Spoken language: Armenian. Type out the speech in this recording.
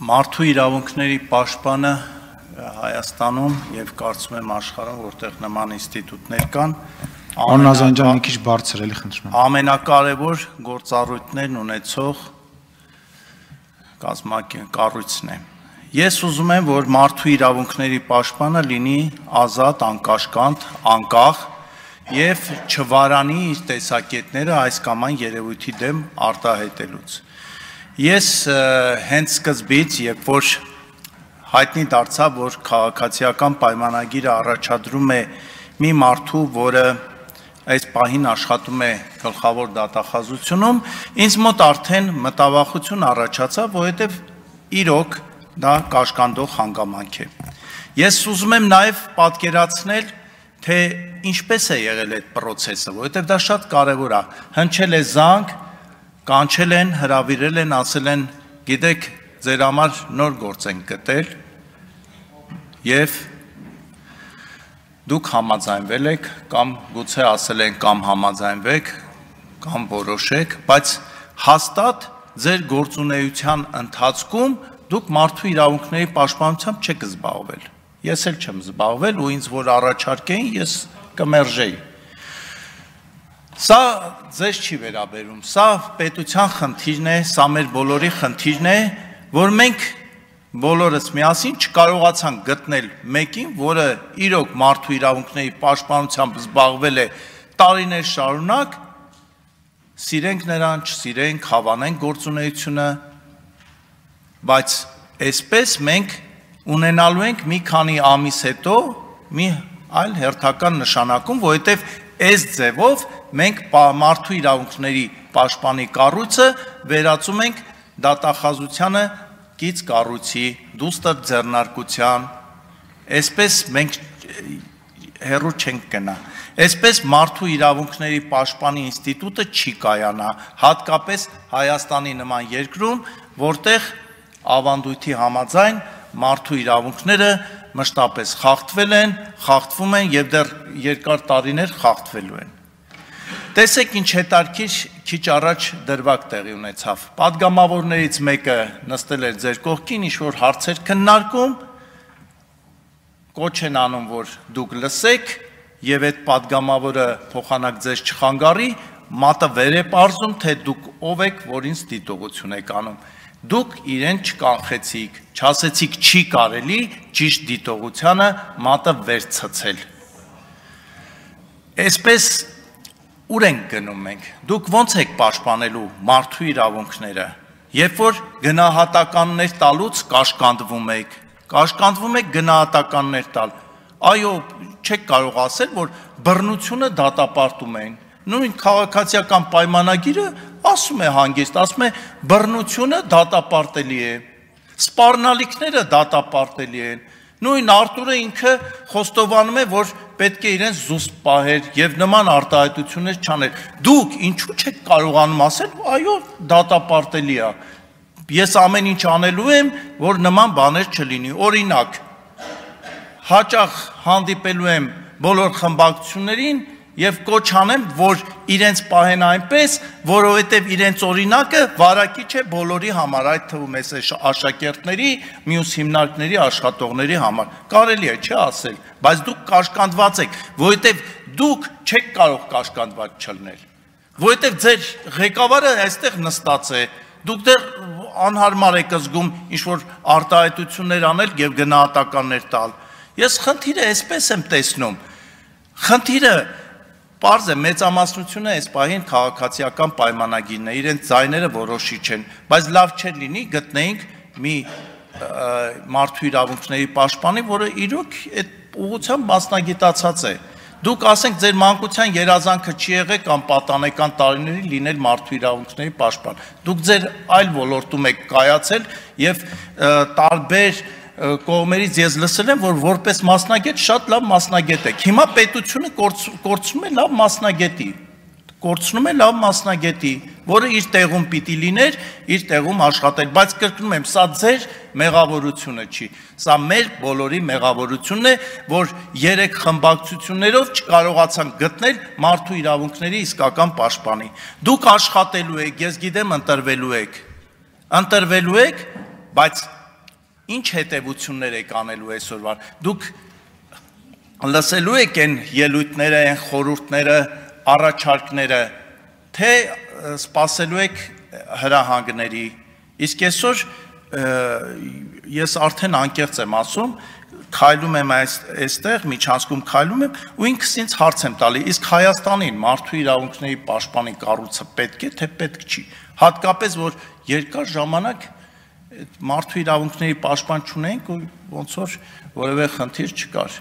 Մարդու իրավունքների պաշտպանը Հայաստանում եւ կարծում եմ աշխարհում, որտեղ նման ինստիտուտներ կան, Աննազանջան մի քիչ բարձր էլի խնդրում եմ։ Ամենակարևոր գործառույթներն ունեցող կառույցն է։ Ես ուզում եմ, որ մարդու իրավունքների պաշտպանը լինի ազատ, անկաշկանդ, անկախ եւ չվարանի իր տեսակետները այս կամ այն երևույթի դեմ արտահայտելուց։ Ես հենց սկզբից, երբ որ հայտնի դարձավ, որ քաղաքացիական պայմանագիրը առաջադրում է մի մարդու, որը այս պահին աշխատում է գլխավոր դատախազությունում, ինձ մոտ արդեն մտավախություն առաջացավ, որովհետև իրոք դա կաշկանդող հանգամանք է։ Ես ուզում եմ նաև պատկերացնել, թե ինչպես է եղել այդ process-ը, որովհետև դա շատ կարևոր է։ Հնչել է զանգ, կանչել են, հրավիրել են, ասել են, գիտեք, ձեր համար նոր գործ ենք գտել եւ դուք համաձայնվել եք կամ գուցե ասել են կամ համաձայնվեք կամ որոշեք, բայց հաստատ ձեր գործունեության ընթացքում դուք մարդու իրավունքների պաշտպանությամբ չեք զբաղվել։ Ես էլ չեմ զբաղվել ու ինձ որ առաջարկեին, ես կմերժեի։ Սա ձեզ չի վերաբերում, սա պետության խնդիրն է, սա մեր բոլորի խնդիրն է, որ մենք բոլորս միասին չկարողացանք գտնել մեկին, որը իրոք մարդու իրավունքների պաշտպանությամբ զբաղվել է տարիներ շարունակ, սիրենք նրան, չսիրենք, հավանենք գործունեությունը, բայց այսպես մենք ունենալու ենք մի քանի ամիս հետո մի այլ հերթական նշանակում, որովհետև այս ձևով մենք մարդու իրավունքների պաշտպանի կառույցը վերածում ենք դատախազությանը կից կառույցի, դուստր ձեռնարկության, այսպես մենք հեռու չենք գնա։ Այսպես մարդու իրավունքների պաշտպանի ինստիտուտը չի կայանա, հատկապես Հայաստանի նման երկրում, որտեղ ավանդույթի համաձայն մարդու իրավունքները մշտապես խախտվել են, խախտվում են եւ դեռ երկար տարիներ խախտվելու են։ Տեսեք ինչ հետարքիր քիչ առաջ դրվագ տեղի ունեցավ։ Պատգամավորներից մեկը նստել էր ձեր կողքին, ինչ-որ հարցեր քննարկում, կոչ են անում, որ դուք լսեք եւ այդ պատգամավորը փոխանակ ձեզ չխանգարի, մատը վեր է պարզում, թե դուք ով եք, որ ինձ դիտողություն եք անում։ Դուք իրեն չկանխեցիք, չասեցիք չի կարելի ճիշտ դիտողությանը մատը վեր ցցել։ Այսպես ուր ենք գնում մենք։ Դուք ո՞նց եք պաշտպանելու մարդու իրավունքները, երբ որ գնահատականներ տալուց կաշկանդվում եք գնահատականներ տալ։ Այո, չեք կարող ասել, որ բռնությունը դատապարտում են։ Նույն քաղաքացիական պայմանագիրը ասում է հանգիստ, ասում է բռնությունը դատապարտելի է, սպառնալիքները դատապարտելի են։ Նույն Արտուրը ինքը խոստովանում է, որ պետք է իրեն զուսպ պահեր եւ նման արտահայտություններ չաներ։ Դուք ինչու չեք կարողանում ասել, այո, դատապարտելի է։ Ես ամեն ինչ անելու եմ, որ նման բաներ չլինի։ Օրինակ, հաճախ հանդիպելու եմ բոլոր խմբակցություններին եւ կոչ անեմ, որ իրենց պահեն այնպես, որովհետեւ իրենց օրինակը վարակիչ է բոլորի համար, այդ թվում է աշակերտների, մյուս հիմնարկների, աշխատողների համար։ Կարելի է չէ ասել, բայց դուք կաշկանդված եք, որովհետեւ դուք չեք կարող կաշկանդված չլինել։ Որովհետեւ ձեր ղեկավարը այստեղ նստած է, դուք դեռ անհարմար եք զգում ինչ-որ արտահայտություններ անել եւ գնահատականներ տալ։ Ես խնդիրը այսպես եմ տեսնում։ Խնդիրը պարզ է, մեծամասնությունը այս պահին քաղաքացիական պայմանագիրն է, իրենց ձայները որոշիչ են, բայց լավ չէր լինի գտնեինք մի մարդու իրավունքների պաշտպանի, որը իրոք այդ ուղղությամբ մասնագիտացած է։ Դուք ասենք ձեր մանկության երազանքը չի եղել կամ պատանեկան տարիներին լինել մարդու իրավունքների պաշտպան։ Դուք ձեր այլ ոլորտում եք կայացել եւ տարբեր կողմերից ես լսել եմ, որ որպես մասնագետ շատ լավ մասնագետ եք։ Հիմա պետությունը կորցնում է լավ մասնագետի, որը իր տեղում պիտի լիներ, իր տեղում աշխատել, բայց կրկնում եմ, սա ձեր մեղավորությունը չի, սա մեր բոլորի մեղավորությունն է, որ 3 խմբակցություններով չկարողացանք գտնել մարդու իրավունքների իսկական պաշտպանի։ Դուք աշխատելու եք, ես գիտեմ ընտրվելու եք, բայց ինչ հետևություններ եք անելու այսօրվա։ Դուք լսելու եք այն ելույթները, այն խորհուրդները, առաջարկները, թե սպասելու եք հրահանգների։ Իսկ այսօր ես արդեն անկեղծ եմ ասում, քայլում եմ այստեղ, միջանցքում քայլում եմ ու ինքս ինձ հարց եմ տալի, իսկ Հայաստանին մարդու իրավունքների պաշտպանի կառույցը պետք է, թե պետք չի։ Հատկապես որ երկար ժամանակ մարդու իրավունքների պաշտպան չունենք ու ոնց որ որևէ խնդիր չկար։